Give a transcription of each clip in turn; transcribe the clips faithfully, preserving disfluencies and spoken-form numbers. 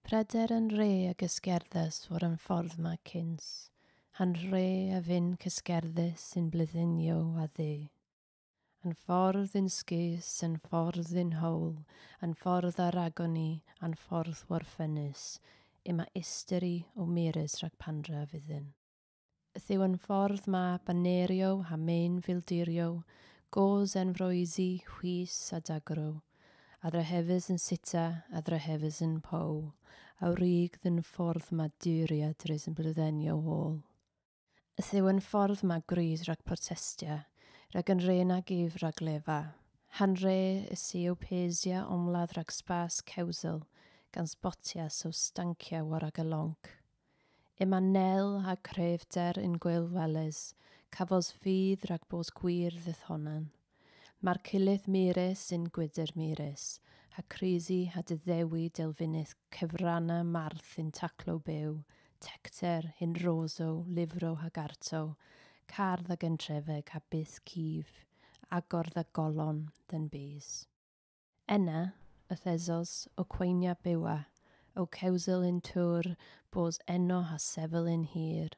Preder yn re ag ysgerddus war yn ffordd ma cyns, han re a fyn cysgerddus yn blyddenio a ddu. An ffordd yn sgus, yn ffordd yn howl, an ffordd ar agoni, an ffordd warffenus, yma ysteri o mirus rhag pandra fyddin. Ythyw yn ffordd ma banerio ha mein fildirio, goz enfroesi, chwys a dagro, a drahefys yn sita, a drahefys yn pow, a wrig ddyn ffordd ma duria drys yn blyddenio ôl. Ythyw yn ffordd ma gryd rhag protestia, rhag yn re nag if rhag lefa. Han re y si o pesia omladd rhag spas cewsel, gan sbotia so stancia war ag y lonc. Yma nel a crefder yn gwyl weles, cafos fydd rhag bos gwir ddithonan. Mae'r cilydd mirus yn gwydr mirus, ha crisi ha dyddewi delfynydd cyfranna marth yn taclo byw, tecter hyn roso, lifro hag arto, cardd ag entrefeg a byth cif, agordd a golon dyn bys. Ena, y thesos o cweinia bywa, o cewsel yn tŵr, bos eno ha sefyl yn hir,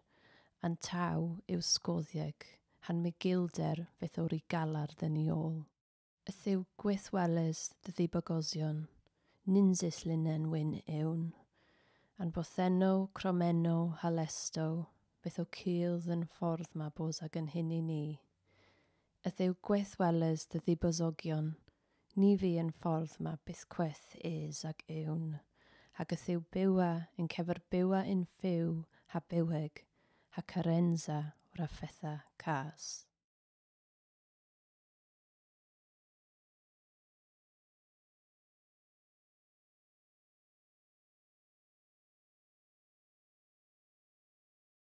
an taw yw sgoddieg, han migilder fyth o'r i galar dyn i ôl. Ythyw gwythweles dy ddibogosion, ninsis linen wyn ewn, an botheno, cromeno, halesto, beth o cil yn ffordd ma bos ag yn hyn i ni. Ythyw gwythweles dy ddibosogion, ni fi yn ffordd ma byth cweth is ag ewn, hag ythyw bywa yn cefer bywa yn fyw ha byweg, ha carenza o'r affetha cas.